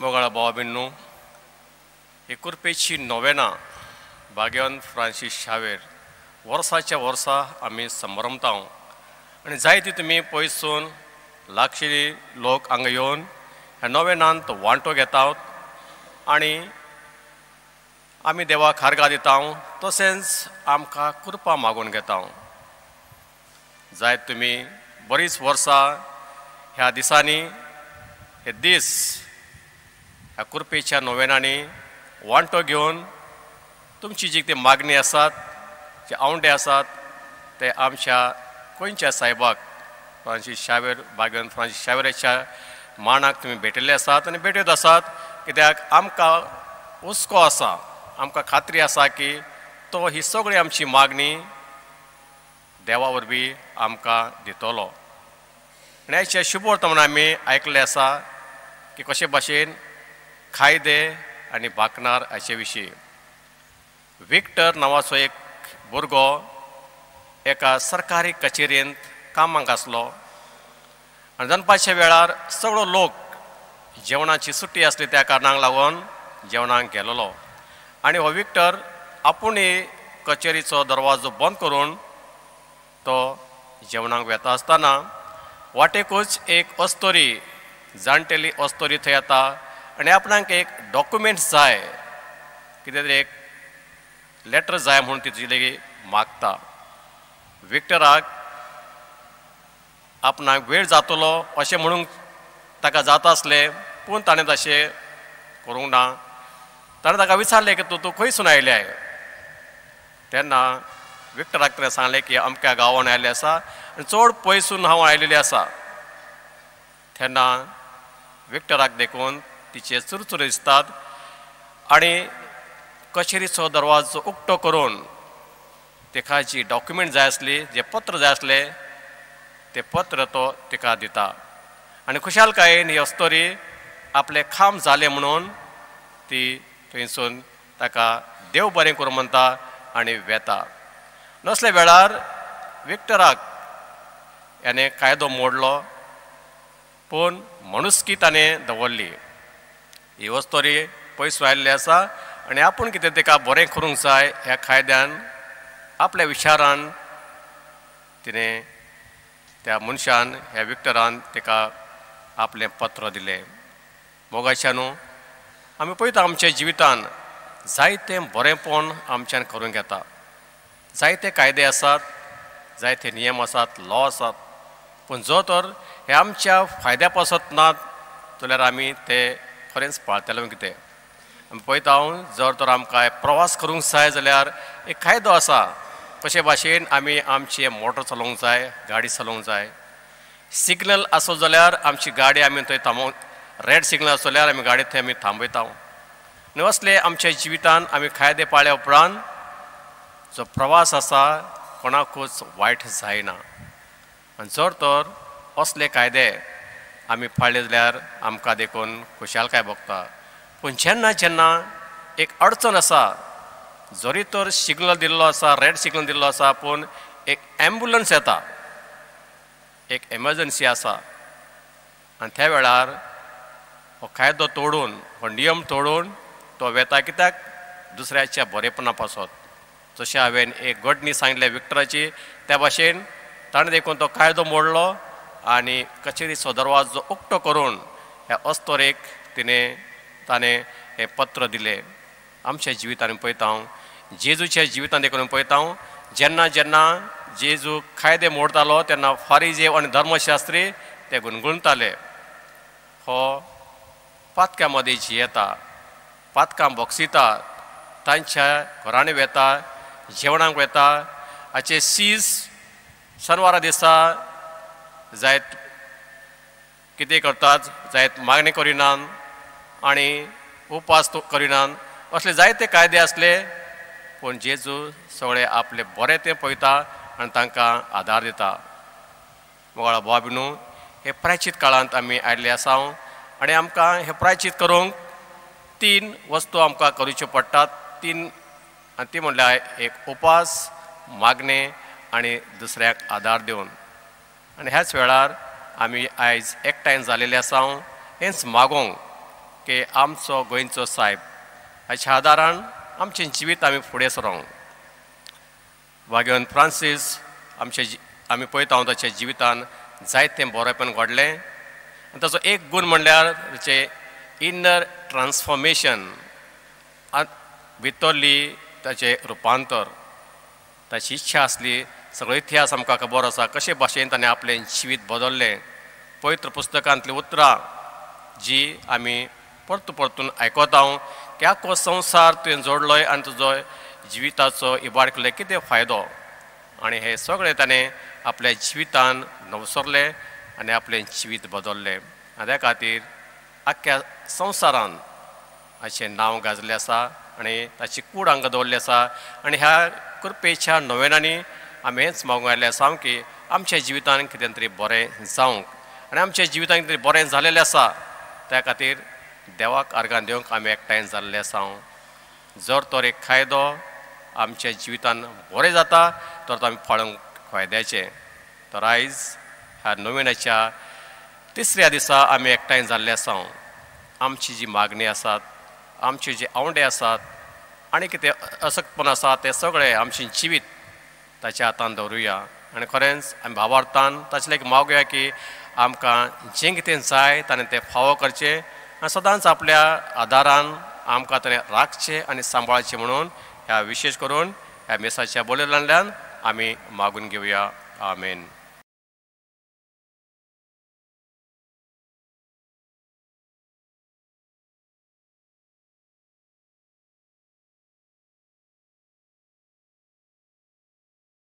मोगाळ भावा भयणींनो, ही कुर्पेची नोवेना भाग्यवंत फ्रांसीस शावेर वर्साच्या वर्सा आमी संभ्रमता आनी जायती तुमी पयसून लागशिल्ली लोक हांगा येवन ह्या नोवेनांत वांटो घेतात आनी आमी देवाक हारगा दिता, तशेंच आमकां कृपा मागून घेता। जायत तुमी बरीच वर्सां ह्या दिसांनी हे दीस ह्या कुर्पेच्या नोवेनांनी वांटो घेवन तुमची जी कितें मागणी आसात, जे आवंडे आसात ते आमच्या गोंयच्या सायबाक फ्रांसीस शावेर, भाग्यवंत फ्रांसीस शावेराच्या मानाक तुमी भेटिल्ले आसात आनी भेटयत आसात। कित्याक आमकां हुस्को आसा, आमकां खात्री आसा की तो ही सगळी आमची मागणी देवा वरवीं आमकां दितलो। आनी आयच्या शुभवर्तमान आमी आयकल्लें आसा की कशे भाशेन कायदे आनी बाकनार हाचे विशीं विक्टर नांवाचो एक भुरगो एका सरकारी कचेरेंत कामाक आसलो आनी दनपारच्या वेळार सगळो लोक जेवणाची सुट्टी आसली त्या कारणाक लागून जेवणाक गेलेलो आनी हो विक्टर आपुणूय कचेरीचो दरवाजो बंद करून तो जेवणाक वेता आसतना वाटेकूच एक अस्तोरी, जाणटेली अस्तोरी थंय येता आनी आपणाक एक डॉक्युमेंट जाय, कितें तरी एक लेटर जाय म्हूण ती तुजी लेगीत मागता। विक्टराक आपणाक वेळ जातलो अशें म्हणूंक ताका जाता आसलें, पूण ताणें तशें करूंक ना। ताणें ताका विचारलें की तूं खंयसून आयल्याय? तेन्ना विक्टराक ताणें सांगलें की अमक्या गांवान आयिल्लें आसा आनी चड पयसून हांव आयिल्लें आसा। तेन्ना विक्टराक देखून तिचे चुरचुरे दिसतात आनी कचेरीचो दरवाजो उक्तो करून तिका जी डॉक्युमेंट जाय आसली, जें पत्र जाय आसलें तें पत्र तो तिका दिता आनी खुशालकायेन ही अस्तोरी आपलें काम जालें म्हणून ती थंयसून ताका देव बरें करूं म्हणटा आनी वेता। नसल्या वेळार विक्टराक याने कायदो मोडलो, पूण मनुस्की ताणें दवरली। ही अस्तोरी पयस आयिल्ली आसा आनी आपूण कितें तिका बरें करूंक जाय ह्या कायद्यान आपल्या विचारान तिणें त्या मनशान, ह्या विक्टरान तिका आपलें पत्र दिलें। मोगाच्या न्हू, आमी पळयता आमच्या जिवितान जायतें बरेंपण आमच्यान करूंक येता, जायते कायदे आसात, जायते नियम आसात, लॉ आसात, पूण जो तर हे आमच्या फायद्या पासत नात जाल्यार आमी ते खरेंच पाळतले कितें। आमी पळयता जर तर आमकां प्रवास करूंक जाय जाल्यार एक कायदो आसा कशे भाशेन आमी आमची मोटर चलोवंक जाय, गाडी चलोवंक जाय। सिग्नल आसो जाल्यार आमची गाडी आमी थंय थांबोवंक, रेड सिग्नल आसो जाल्यार आमी गाडी थंय आमी थांबयता। आनी असले आमच्या जिवितान आमी कायदे पाळ्या उपरांत जो प्रवास आसा कोणाकूच वायट जायना। आनी जर तर असले कायदे आमी पाळ्ळे जाल्यार आमकां देखून खुशालकाय भोगता। पूण जेन्ना जेन्ना एक अडचण आसा, जरी तर सिग्नल दिल्लो आसा, रेड सिग्नल दिल्लो आसा, पूण एक एम्बुलन्स येता, एक एमर्जन्सी आसा आनी त्या वेळार हो कायदो तोडून, हो नियम तोडून तो वेता, कित्याक दुसऱ्याच्या बरेपणा पासत। जशें हांवें एक घडणी सांगलें विक्टराची, त्या भाशेन ताणें देखून तो कायदो मोडलो आनी कचेरीचो दरवाजो उक्तो करून ह्या अस्तोरेक तिणें ताणें हें पत्र दिलें। आमच्या जिवितान पळयता हांव, जेजूच्या जिवितान देखून पळयता हांव, जेन्ना जेन्ना जेजू कायदे मोडतालो तेन्ना फारिजेव आनी धर्मशास्त्री ते गुणगुणताले, हो पातक्या मदीं जियेता, पातकां बोगसिता, तांच्या घरांनी वेता, जेवणाक वेता, हाचे सीज शनवारा दिसा जायत कितें करतात, जायत मागणी करिनात आनी उपास करिनात, असले जायते कायदे आसले, पूण जेजू सगळे आपले बरें तें पळयता आनी तांकां आदार दिता। मोगाळ भाव भयणींनो, हे प्रायचीत काळांत आमी आयिल्ले आसा आनी आमकां हें प्रायचीत करूंक तीन वस्तू आमकां करूच्यो पडटात, तीन, आनी ती म्हणल्यार एक उपास, मागणें आनी दुसऱ्याक आदार दिवन। आनी ह्याच वेळार आमी आयज एकठांय जालेले आसा हेंच मागोंक की आमचो गोंयचो सायब हाच्या आदारान आमचें जिवीत आमी फुडें सरोंक. वागेवन फ्रांसीस आमचे आमी पळयता ताच्या जिवितान जायतें बरेंपण घडलें आनी ताचो एक गूण म्हणल्यार ताचें इनर ट्रान्सफॉर्मेशन, भितरली ताचें रुपांतर. ताची इच्छा आसली, सगळो इतिहास आमकां खबर आसा कशे भाशेन ताणें आपलें जिवीत बदल्लें. पवित्र पुस्तकांतलीं उतरां जी आमी परतून परतून आयकता की आख्खो संवसार तुवें जोडलोय आनी तुजो जिविताचो इबाड केलो कितें फायदो, आनी हे सगळें ताणें आपल्या जिवितान नवसरलें आनी आपलें जिवीत बदल्लें. आनी त्या खातीर आख्ख्या संवसारान अशें नांव गाजलें आसा आनी ताची कूड हांगा दवरली आसा. आनी ह्या कृपेच्या नोवेनांनी आमी हेंच मागूंक आयिल्लें आसा की आमच्या जिवितान कितें तरी बरें जावंक आनी आमच्या जिवितान कितें बरें जालेलें आसा त्या खातीर देवाक आर्गां दिवंक आमी एकठांय जाल्ले आसा. जर तर एक कायदो आमच्या जिवितान बरें जाता तर तो आमी पाळूंक फायद्याचें. तर आयज ह्या नोवेनाच्या तिसऱ्या दिसा आमी एकठांय जाल्ले आसा. आमची जी मागणी आसात, आमचे जे आवंडे आसात आनी कितें असक्तपण आसा तें सगळें आमचें जिवीत ताच्या हातान दवरुया आनी खरेंच आमी भावार्थान ताचे लागीं मागुया की आमकां जें कितें जाय ताणें तें फावो करचें आनी सदांच आपल्या आदारान आमकां ताणें राखचें आनी सांबाळचें म्हणून ह्या विशेश करून ह्या मिसाच्या बोलयल्ल्यान आमी मागून घेवया. आमेन.